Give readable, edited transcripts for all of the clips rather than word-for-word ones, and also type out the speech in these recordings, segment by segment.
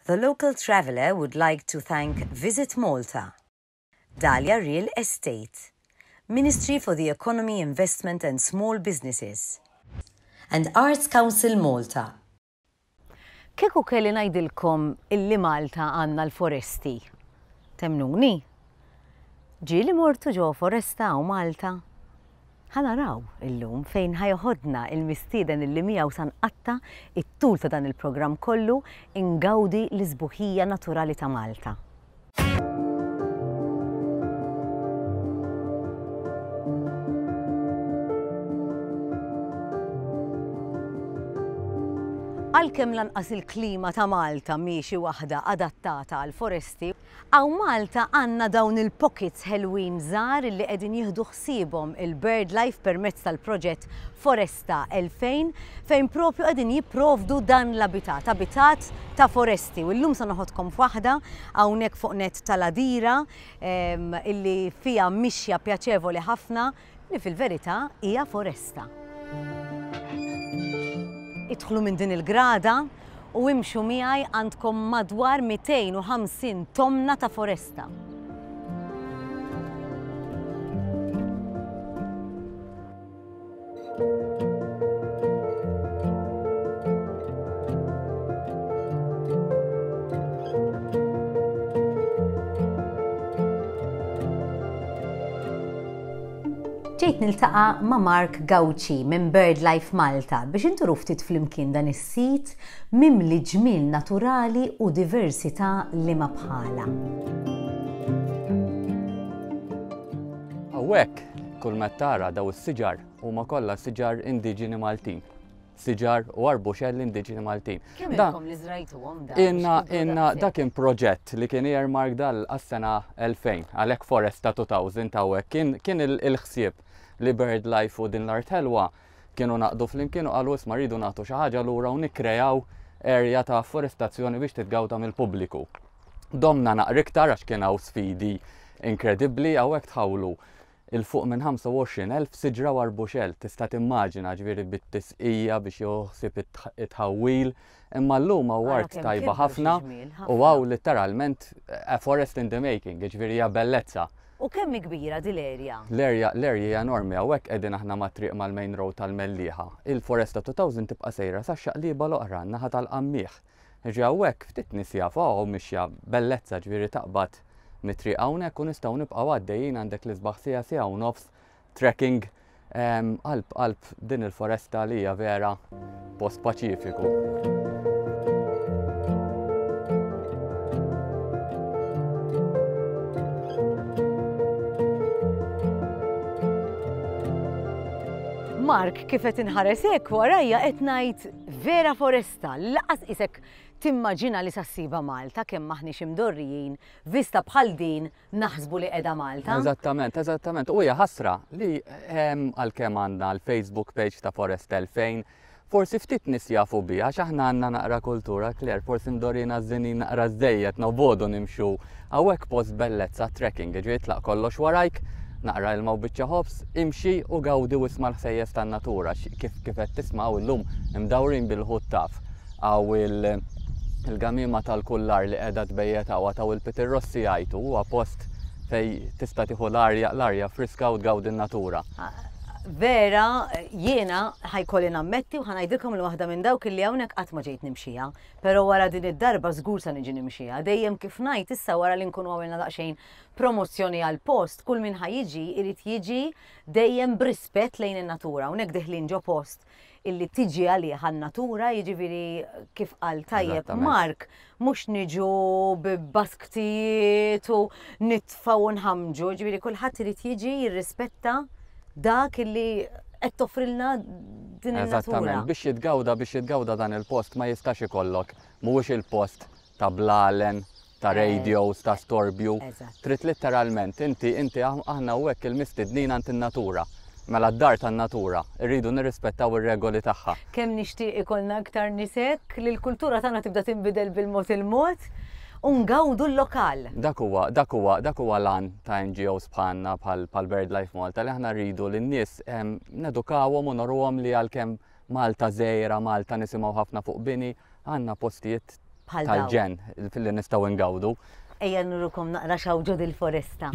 The Local Traveller would like to thank Visit Malta, Dahlia Real Estate, Ministry for the Economy, Investment and Small Businesses, and Arts Council Malta. Kieku kelli ngħidilkom illi Malta għandna l-foresti, temmnuni? Ġieli mortu ġo foresta hawn Malta? Ħa naraw illum fejn ħa joħodna il-mistieden illi miegħu sa nqatta' it-tul ta' dan il-programm kollu ingawdi l-isbuħija naturali ta' Malta. Għalkemm lanqas il-klima ta' Malta mhi xi waħda adattata għall-foresti, hawn Malta għandna dawn il-pockets ħelwin żgħar li qegħdin jieħdu ħsiebhom il-BirdLife permezz tal-proġett Foresta 2000 fejn propju qegħdin jipprovdu dan l-abitat, abitat ta' foresti u llum se noħodkom f'waħda hawnhekk fuq nett tal-Għadira illi fiha mixja pjaċevoli ħafna li fil-verità hija foresta. Idħlu minn din il-grada u imxu miegħi għandkom madwar 250 tomna ta' foresta. Ġejt niltaqa' ma' Mark Gauci minn BirdLife Malta biex inturu ftit flimkien dan is-sit mimli ġmiel naturali u diversità liema bħalha. Hawnhekk Kull ma tara daw is-siġar huma kollha siġar indiġeni Maltin. Siġar u arbuxelli indiġeni Maltin. Kemm ilkom li żrajtuhom dan? Inna, inna, dak kien proġett li kien earmark dal għas-sena 2000, għalhekk Foresta 2000 hawnhekk kien, kien il-ħsieb li BirdLife u din l-art ħelwa kienu naqdu flimkien u qalu isma' rridu nagħtu xi ħaġa lura u nikkrejaw area ta' afforestazzjoni biex titgawda mill-pubbliku. Domna naqra iktar għax kien hawn sfidi inkredibbli hawnhekk tħawlu 'il fuq minn 25,000 siġra u arbuxell, tista' timmaġina ġifieri bit-tisqija biex jieħu ħsieb it-tħawwil, imma llum hawn art tajba ħafna u hawn litteralment a forest in the making, jiġifieri hija bellezza. U kemm hi kbira din l-area? L-area l-area hija enormi, hawnhekk qegħdin aħna mat-triq mal-main road tal-Mellieħa. Il-foresta 2000 tibqa' sejra sax-xaqliba l-oħra, n-naħa tal-Qammieħ. Jiġri hawnhekk ftit nies jafu hawn mixja bellezza ġifieri taqbad mit-triq hawnhekk u nistgħu nibqgħu għaddejjin għandek l-isbaħ siegħa siegħa u nofs trekking qalb qalb din il-foresta li hija vera post paċifiku. Mark, kif qed inħares hekk warajja qed ngħid vera foresta. Vista, li lanqas qisek timmaġina li sa ssibha Malta kemm m'aħniex imdorrijin vista bħal din naħsbu li qiegħda Malta. Eżattament, eżattament. U hija ħasra li għalkemm għandna l-Facebook page ta' Forest 2000, forsi ftit nies jafu biha għax aħna għandna naqra kultura, Claire, forsi mdorrijin għaż-żinin naqra żejjed, nobogħdu nimxu hawnhekk post bellezza trekking, jiġifieri tlaq kollox warajk, naqra ilma u biċċa ħobż, imxi u gawdi u isma' l-ħsejjes tan-natura, kif kif qed tisma' hawn illum imdawrin bil-ħut taf. Hawn il-gamiema tal-kullar li qiegħda tbejjet hawn, għad hawn il-pitirrossi jgħajtu, huwa post fejn tista' tieħu l-arja, l-arja friska u tgawdi n-natura. Vera, jiena ħa jkolli nammetti u ħa ngħidilkom li waħda minn dawk illi hawnhekk qatt ma ġejt nimxiha. Però wara din id-darba żgur sa niġi nimxiha. Dejjem kif ngħid issa wara li nkunu għamilna daqsxejn promozzjoni għall-post, kull min ħa jiġi jrid jiġi dejjem b'rispett lejn in-natura. Hawnhekk deħlin ġo post illi tiġi għalih għan-natura, jiġifieri kif qal tajjeb Mark, mhux niġu b'basktijiet u nitfgħu u nħammġu, jiġifieri kulħadd irid jiġi jirrispetta dak illi qed toffrilna din in-natura. Eżattament, biex jitgawda biex jitgawda dan il-post ma jistax ikollok, mhuwiex il-post ta' blalen, ta' radios, ta' storbju. Trid litteralment, inti, inti, aħna hawnhekk il-mistednin għand in-natura. Mela d-dar tan-natura, irridu nirrispettaw ir-regoli tagħha. Kemm nixtieq ikollna iktar nies hekk, li l-kultura tagħna tibda tinbidel bil-mod il-mod u ngawdu l-lokal. Dak huwa, dak huwa, dak huwa l-għan ta' NGOs bħalna, bħal BirdLife Malta, li aħna rridu lin-nies nedukawhom u noruhom li għalkemm Malta żgħira, Malta nisimgħu ħafna fuq bini, għandna postijiet. Bħal dawn. Tal-ġenn li nistgħu ngawdu. Ejja nurukom naqra x'hawn ġo dil-foresta.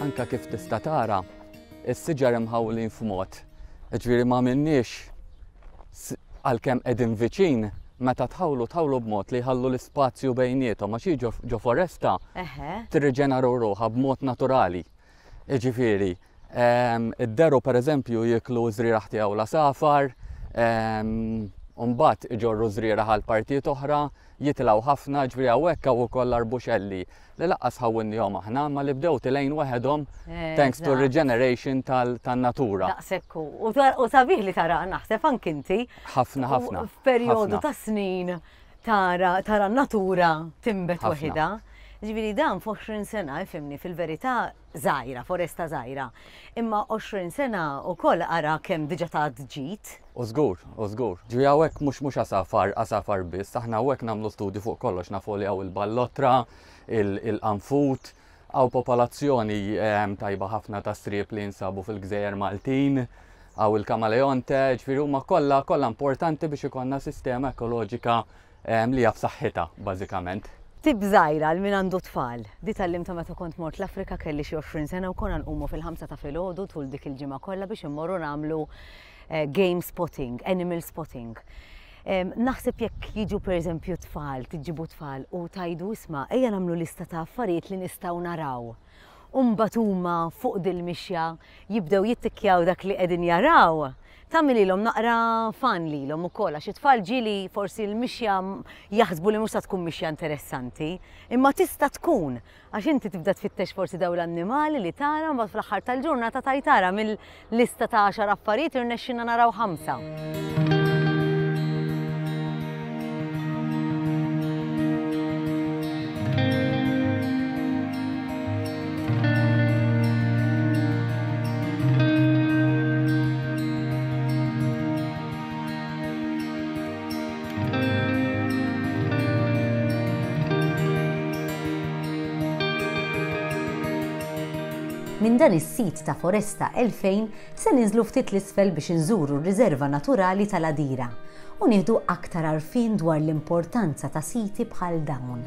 Anka kif tista' tara, is-siġar imħawlin f'mod, jiġifieri ma għamilniex għalkemm qegħdin viċin, meta tħawlu tħawlu b'mod li jħallu l-ispazju bejniethom għax hi ġo foresta tirriġenera ruħha b'mod naturali. Jiġifieri, id-deru pereżempju jieklu ż-żrieragħ tiegħu l-għasafar, u mbagħad iġorru żrieragħ għal partijiet oħra, jitilgħu ħafna, ġifieri hawnhekk hawn ukoll l-arbuxelli li laqqas ħawwilnihom aħna, imma li bdew tilgħin waħedhom thanks to regeneration tan-natura. Daqshekk hu. U sabiħ li tara naħseb anki inti. Ħafna ħafna. F'perjodu ta' snin tara tara n-natura tinbet waħidha. Ġifieri dan f'20 sena, ifhimni, fil-verità żgħira, foresta żgħira. Imma 20 sena wkoll ara kemm diġà tat ġid. U żgur, u żgur. Ġifieri hawnhekk mhux mhux għasafar, għasafar biss, aħna hawnhekk nagħmlu studju fuq kollox, nafu li hawn il-ballottra, il-qanfud, hawn popolazzjoni tajba ħafna ta' sriep li jinsabu fil-gżejjer Maltin, hawn il-kamaleonte, ġifieri huma kollha kollha importanti biex ikollna sistema ekoloġika li hija b'saħħitha bażikament. Tip żgħira għal min għandu tfal. Di tgħallimtha meta kont mort l-Afrika kelli xi 20 sena u konna nqumu fil-ħamsa ta' filgħodu tul dik il-ġimgħa kollha biex immorru nagħmlu game spotting, animal spotting. Naħseb jekk jiġu pereżempju tfal, tiġibu tfal u tgħidu isma' ejja nagħmlu lista ta' affarijiet li nistgħu naraw. U mbagħad huma fuq dil-mixja jibdew jittikkjaw dak li qegħdin jaraw, tagħmililhom naqra fun lilhom ukoll għax it-tfal ġieli forsi l-mixja jaħsbu li mhux se tkun mixja interessanti, imma tista' tkun għax inti tibda tfittex forsi dawn l-annimali li tara mbagħad fl-aħħar tal-ġurnata tgħid ara mill-lista ta' għaxar affarijiet irnexxielna naraw ħamsa. Minn dan is-sit ta' Foresta 2000 se ninżlu ftit 'l isfel biex inżuru r-Riserva Naturali tal-Għadira u nieħdu aktar għarfien dwar l-importanza ta' siti bħal dawn.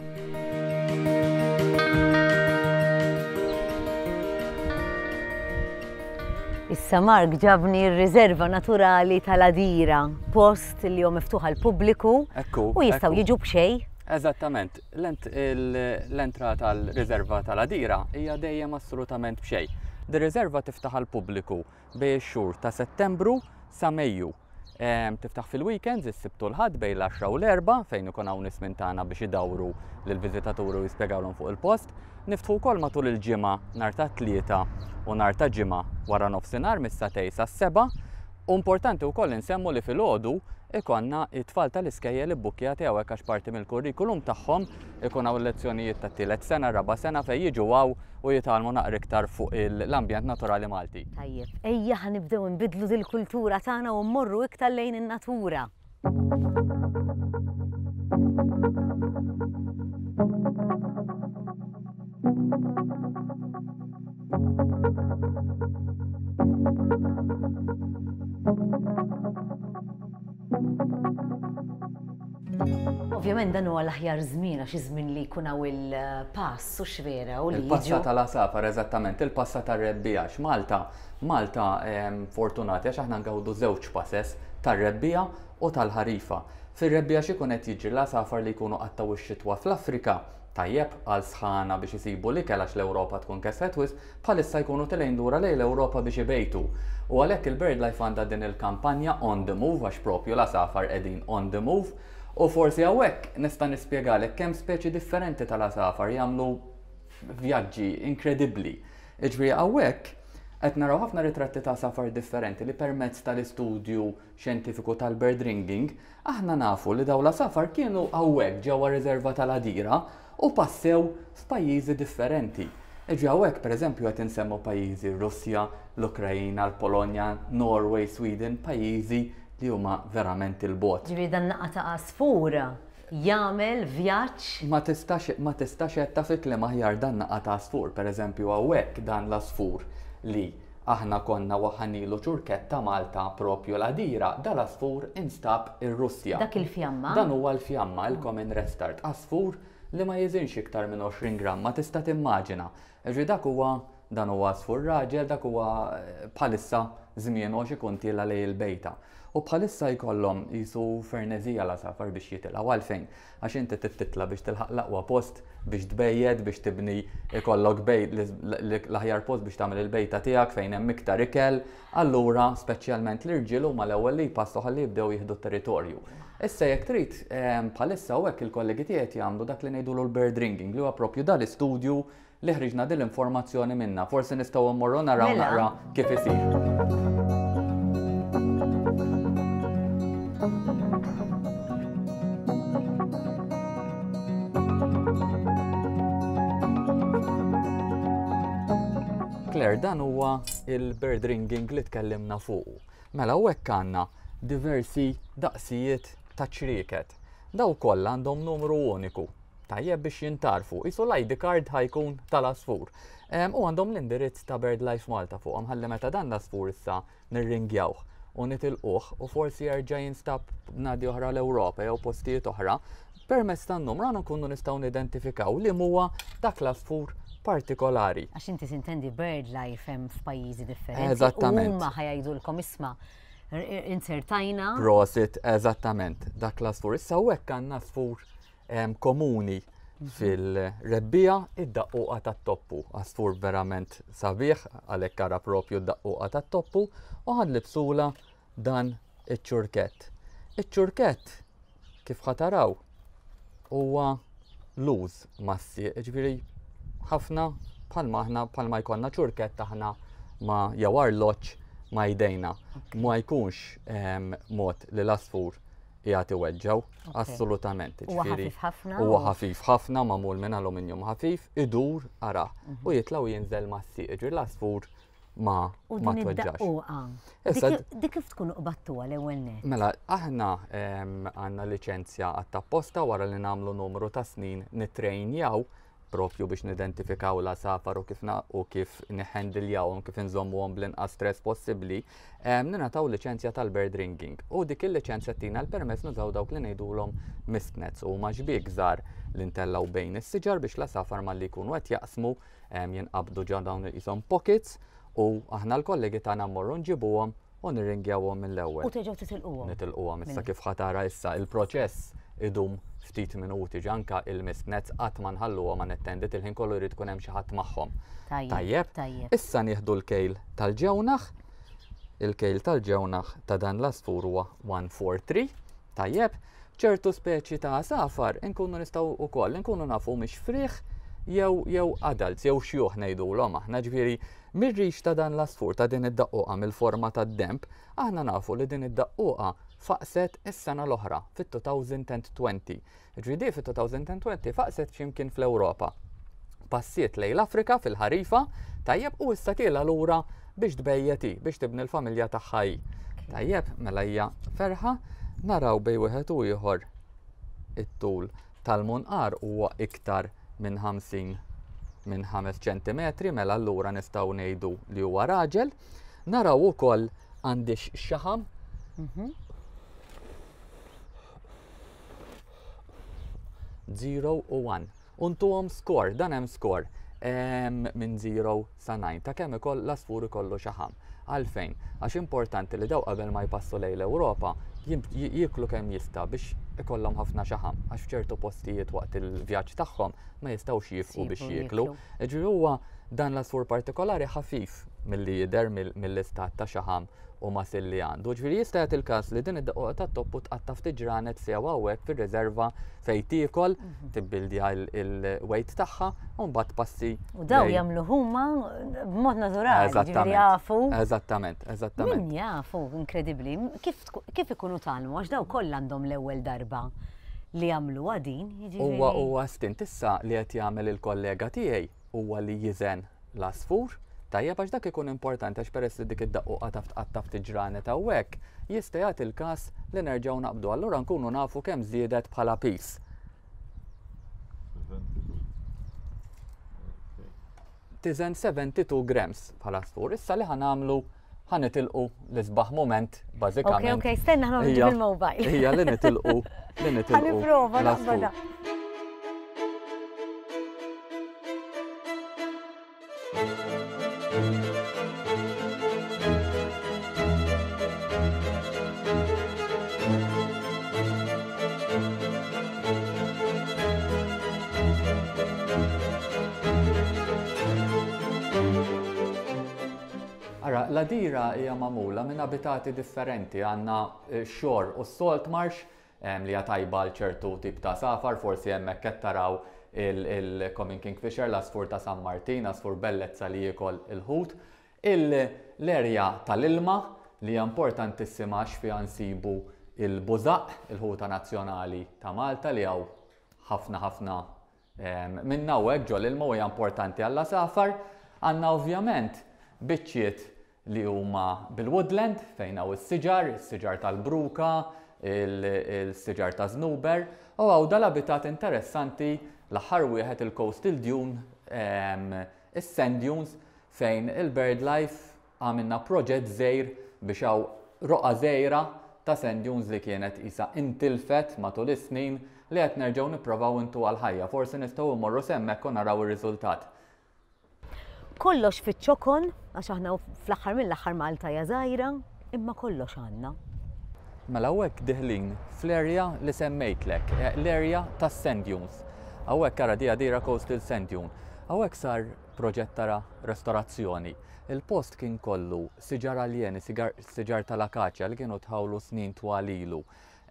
Issa Mark ġabni r-Riserva Naturali tal-Għadira, post li hu miftuħ għall-pubbliku u jistgħu jiġu b'xejn. Eżattament, l-entrata għall-Riserva tal-Għadira hija dejjem assolutament b'xejn. Dir-riserva tiftaħ għall-pubbliku bejn ix-xhur ta' Settembru sa Mejju. Tiftaħ fil-weekends, is-Sibt u l-Ħadd bejn l-għaxra u l-erbgħa fejn ikun hawn nies minn tagħna biex idawru lill-viżitaturi u jispjegawlhom fuq il-post. Niftħu wkoll matul il-ġimgħa nhar ta' Tlieta u nhar ta' Ġimgħa wara nofsinhar mis-sagħtej sas-sebgħa. U importanti wkoll insemmu li filgħodu ikollna t-tfal tal-iskejjel ibbukkjati hawnhekk għax parti mill-kurrikulum tagħhom ikun hawn lezzjonijiet tat-tielet sena, raba' sena fejn jiġu hawn u jitgħallmu naqra iktar fuq l-ambjent naturali Malti. Tajjeb, ejja ħa nibdew inbiddlu dil-kultura tagħna u mmorru iktar lejn in-natura. Ovvjament dan huwa l-aħjar żmien għax iż-żmien li jkun hawn il-pass u x'vera u li Il-passa tal-għasafar eżattament, il-passa tar-rebbiegħa għax Malta, Malta ehm, fortunati għax aħna ngawdu żewġ passes tar-rebbiegħa u tal-ħarifa. Fir-rebbiegħa x'ikun qed jiġri l-għasafar li jkunu qattgħu x-xitwa fl-Afrika, tajjeb għal sħana biex isibu l-ikel għax l-Ewropa tkun kesħet wisq, bħalissa jkunu tilgħin lura lejn l-Ewropa biex ibejtu. U għalhekk il-BirdLife għandha din il-kampanja On the Move għax propju l-għasafar qegħdin on the move. U forsi hawnhekk nista' nispjegalek kemm speċi differenti tal-għasafar jagħmlu vjaġġi inkredibbli. Jiġifieri hawnhekk qed naraw ħafna ritratti ta' għasafar differenti li permezz tal-istudju xjentifiku tal-bird ringing Aħna nafu li dawn l-għasafar kienu hawnhekk ġewwa r-riserva tal-Għadira u passew f'pajjiżi differenti. Jiġri hawnhekk pereżempju qed insemmu pajjiżi r-Russja, l-Ukraina, l-Polonja, Norway, Sweden, pajjiżi li huma verament 'il bogħod. Ġifieri dan naqa' ta' għasfur jagħmel vjaġġ. Ma tistax ma tistax għedtha fi kliem aħjar dan naqa' ta' għasfur. Pereżempju hawnhekk dan l-għasfur li. aħna konna waħħanilu ċurkett ta' Malta propju l-Għadira, dal-għasfur instab ir-Russja. Dak il-fjamma? Dan huwa l-fjamma, il-common redstart, għasfur li ma jiżinx iktar minn 20 gramma, tista' timmaġina. Jiġifieri dak huwa, dan huwa għasfur raġel, dak huwa bħalissa żmienu għax ikun tiela' lejn il-bejta. U bħalissa jkollhom qisu ferneżija l-għasafar biex jitilgħu. Għalfejn? Għax inti trid titla' biex tilħaq l-aqwa post biex tbejjed, biex tibni ikollok bejt l-aħjar post biex tagħmel il-bejta tiegħek fejn hemm iktar ikel. Allura, speċjalment l-irġiel huma l-ewwel li jpassu ħalli jibdew jieħdu t-territorju. Issa jekk trid, bħalissa hawnhekk il-kollegi tiegħi qed jagħmlu dak li ngħidulu l-bird ringing li huwa propju dal-istudju li ħriġna din l-informazzjoni minnha. Forsi nistgħu mmorru naraw mela. naqra kif isir. Claire, dan huwa il-bird ringing li tkellimna fuqu. Mela u hekk għandna diversi daqsijiet ta' ċrieket. Daw kollha għandhom numru uniku Tajjeb biex jintgħarfu. Qisu l-ID card ħa jkun tal-għasfur. U għandhom l-indirizz ta' BirdLife Malta fuqhom ħalli meta dan l-għasfur issa nirringjawh u nitilquh u forsi jerġa' jinstab b'nadi oħra l-Ewropa jew postijiet oħra, permezz tan-numru aħna nkunu nistgħu nidentifikaw li huwa dak l-għasfur partikolari. Għax inti tintendi BirdLife hemm f'pajjiżi differenti. Eżattament. U huma ħa jgħidulkom isma' insertajna. Prosit, eżattament, dak l-għasfur. Issa hawnhekk għandna għasfur komuni fil-rebbiegħa id-daqquqa tat-toppu. Għasfur verament sabiħ, għalhekk ara propju d-daqquqa tat-toppu, u ħanlibsula dan iċ-ċurkett. Iċ-ċurkett, kif ħataraw, huwa luż mas-sieq, ġifieri ħafna bħalma aħna bħalma jkollna ċurkett aħna ma jew arloġġ ma jdejna. Ma jkunx mod li l-għasfur qiegħed iweġġgħu, assolutament. Huwa ħafif ħafna. Huwa ħafif ħafna, magħmul minn aluminium ħafif, idur ara mhm. u jitla' u jinżel mas-sieq, ġifieri l-għasfur ma ma tweġġax. Issa dik kif tkun qbattuha l-ewwel net? Mela, aħna għandna liċenzja għat-tapposta wara li nagħmlu numru ta' snin nitrejnjaw propju biex nidentifikaw l-għasafar u kif u kif niħendiljawhom, kif inżommuhom bl-inqas stress possibbli, ningħataw liċenzja tal-bird ringing. U dik il-liċenzja tina l-permess nużaw dawk li ngħidulhom mist nets u huma xbiek żgħar li ntellgħu bejn is-siġar biex l-għasafar malli jkunu qed jaqsmu jinqabdu ġo dawn qishom pockets u aħna l-kollegi tagħna mmorru nġibuhom u nirringjawhom mill-ewwel. U terġgħu titilquhom. Nitilquhom issa kif ħa tara issa il-proċess idum ftit minuti ġanka il-mist nets qatt ma nħalluhom unattended il-ħin kollu jrid ikun hemm xi ħadd magħhom. Tajjeb. Tajjeb. Issa nieħdu l-kejl tal-ġewnaħ. Il-kejl tal-ġewnaħ ta' dan l-għasfur huwa 143. Tajjeb. Ċertu speċi ta' għasafar inkunu nistgħu wkoll inkunu nafu mhix frieħ jew jew adults jew xjuħ ngħidulhom aħna ġifieri Mir-rix ta' dan l-għasfur, ta' din id-daqquqa mill-forma tad-denb, aħna nafu li din id-daqquqa faqset is-sena l-oħra, fit-2020. Jiġifieri di fit-2020 faqset xi mkien fl-Ewropa. Passiet lejn l-Afrika fil-ħarifa, tajjeb, u issa tiela' lura biex tbejjet hi, biex tibni l-familja tagħha hi. Tajjeb, mela hija ferħa, naraw bejn wieħed u ieħor it-tul tal-munqar huwa iktar minn 50 minn 5 ċentimetri, mela allura nistgħu ngħidu li huwa raġel. Naraw ukoll għandix xaħam. 0 u 1. Untuhom score, dan hemm score minn 0 sa 9 ta' kemm ikoll l-għasfur ikollu xaħam. Għalfejn? Għax importanti li daw qabel ma jpassu lejn l-Ewropa jieklu kemm jista' biex ikollhom ħafna xaħam għax f'ċertu postijiet waqt il-vjaġġ tagħhom ma jistgħux jifqu biex jieklu. Jiġifieri huwa dan l-għasfur partikolari ħafif milli jidher mill-istat ta' xaħam u masil li għandu. Ġifieri jista' jagħti l-każ li din id-daqquqa tat-toppu tqatta' ftit ġranet sew hawnhekk fir-riserva fejn tiekol, mhm. tibbildja il-weight tagħha u mbagħad passi. U daw jagħmlu huma b'mod naturali, ġifieri jafu. Eżattament, eżattament. Min jafu, inkredibbli. Kif, kif ikunu talmu għax daw kollha għandhom l-ewwel darba li jagħmlu din, jiġifieri. Huwa huwa stint issa li qed jagħmel il-kollega tiegħi huwa li jiżen l-għasfur, tajjeb għax dak ikun importanti għax peress li dik id-daqquqa taf tqatta' ftit ġranet hawnhekk, jista' jagħti l-każ li nerġgħu naqbdu allura nkunu nafu kemm żiedet bħala piż. tiżen 72 grams bħala għasfur. Issa li ħa nagħmlu ħa nitilqu l-isbaħ mument bażikament. Ok, ok, stenna ħa noħorġu bil-mobile. Hija li nitilqu li nitilqu. Ħa nipprova naqbadha. Ara, l-għadira hija magħmula minn abitati differenti, għandna eh, xor u salt marsh li hija tajba għal ċertu tip ta' għasafar, forsi hemmhekk qed taraw il-Common Kingfisher, l-għasfur ta' San Martin, għasfur bellezza li jiekol il-ħut. L-erja tal-ilma li hija importantissima għax fiha nsibu il-bużaqq, il-ħuta nazzjonali ta' Malta li hawn ħafna ħafna minnha hawnhekk ġol-ilma u hija importanti għall-għasafar. Għandna ovvjament biċċiet li huma bil-woodland fejn hawn is-siġar, is-siġar tal-bruka, il-siġar ta' żnuber, u hawn dal-abitat interessanti l-aħħar wieħed il-coastal dune, is-sand dunes fejn il-birdlife għamilna proġett żgħir biex hawn roqgħa żgħira ta' sand dunes li kienet qisha intilfet matul is-snin li qed nerġgħu nipprovaw intuha l-ħajja. Forsi nistgħu mmorru s'hemmhekk u naraw ir-riżultat. Kollox fiċ-ċokon, għax aħna fl-aħħar mill-aħħar Malta hija żgħira, imma kollox għandna. Mela hawnhekk diħlin fl-area li semmejtlek, eh, l-area tas-sand dunes. Hawnhekk ara di Għadira Coastal Sand Dune. Hawnhekk sar proġett tara restorazzjoni. Il-post kien kollu siġar aljeni, siġar tal-akaċja li kienu tħawlu snin twal ilu.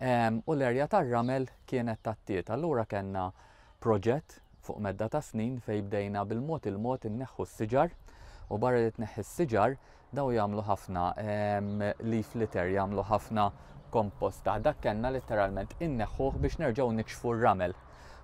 U l-area tar-ramel kienet tattiet. Allura kellna proġett fuq medda ta' snin fejn bdejna bil-mod il-mod inneħħu s-siġar u barra li tneħħi s-siġar daw jagħmlu ħafna leaf litter, jagħmlu ħafna kompost taħt. Dak kellna letteralment inneħħuh biex nerġgħu nikxfu r-ramel.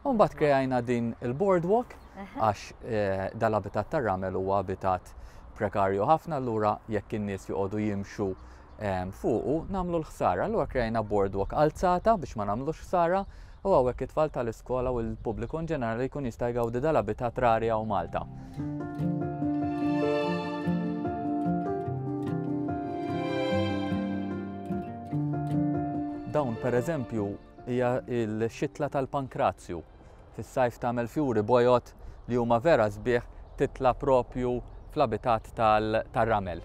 U mbagħad kreajna din il-boardwalk għax eh, dal-abitat tar-ramel huwa abitat prekarju ħafna allura jekk in-nies joqogħdu jimxu fuqu nagħmlu l-ħsara. Allura krejna boardwalk alzata biex ma nagħmlux ħsara u hawnhekk it-tfal tal-iskola u l-pubbliku in ġenerali jkun jista' jgawdi dal-abitat rari hawn Malta. Dawn pereżempju hija l-xitla tal-pankrazju. Fis-sajf tagħmel fjuri bojod li huma vera sbieħ titla' propju fl-abitat tal-ramel.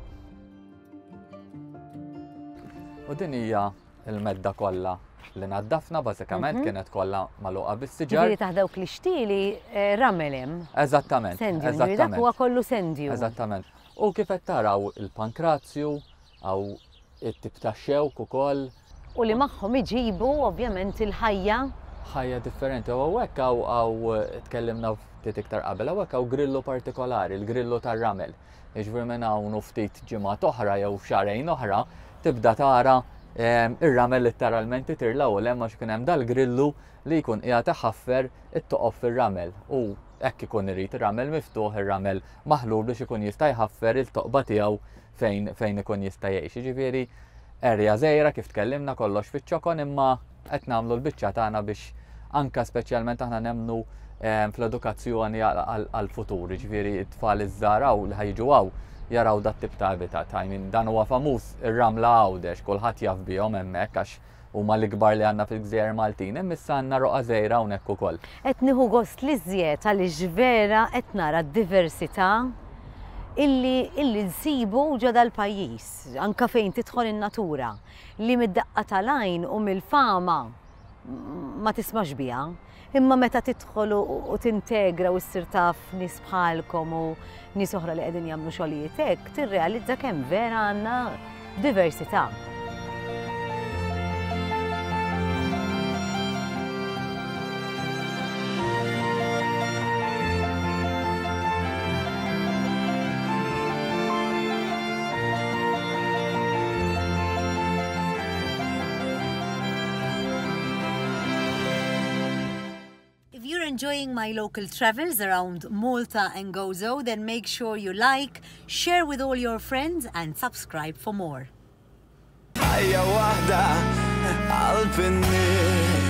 U din hija l-medda kollha li naddafna bażikament mhm. kienet kollha magħluqa bis-siġar. Ġifieri taħt dawk l-ixtieli eh, ramel hemm. Eżattament. Sendju, dak huwa kollu sendju. Eżattament. U kif qed taraw il-pankrazju għaw it-tip ta' xewk ukoll. U li magħhom iġibu ovvjament il-ħajja. Ħajja differenti. U hawnhekk hawn tkellimna ftit iktar qabel, hawnhekk hawn grillu partikolari, il-grillu tar-ramel. Jiġifieri minn hawn u ftit ġimgħat oħra jew xahrejn oħra tibda tara ehm, ir-ramel litteralment itir 'l hawn u hemm għax ikun hemm dal-grillu li jkun qiegħed iħaffer it-toqob fir-ramel u hekk ikun irid ir-ramel miftuħ, ir-ramel maħlul biex ikun jista' jħaffer il-toqba tiegħu fejn fejn ikun jista' jgħix. Jiġifieri erja żgħira kif tkellimna kollox fiċ-ċokon imma qed nagħmlu l-biċċa tagħna biex anka speċjalment aħna nemmnu ehm, fl-edukazzjoni għall-futur, jiġifieri t-tfal iż-żgħar hawn li ħajġu hawn jaraw dat tip ta' habitat. I mean, dan huwa famuż ir-ramla Għawdex, kulħadd jaf bihom hemmhekk għax huma l-ikbar li għandna fil-gżejjer Maltin, imma issa għandna roqgħa żgħira hawnhekk ukoll. Qed nieħu gost l-iżjed għaliex vera qed nara d-diversità illi illi nsibu ġo dal-pajjiż, anke fejn tidħol in-natura. li mid-daqqa tal-għajn u mill-fama ma tismax biha, imma meta tidħol u tintegra u ssir taf nies bħalkom u nies oħra li qegħdin jagħmlu xogħlijiet hekk, tirrealizza kemm vera għandna diversità. If you're enjoying my local travels around Malta and Gozo, then make sure you like, share with all your friends and subscribe for more. Ħajja waħda qalb in-nies.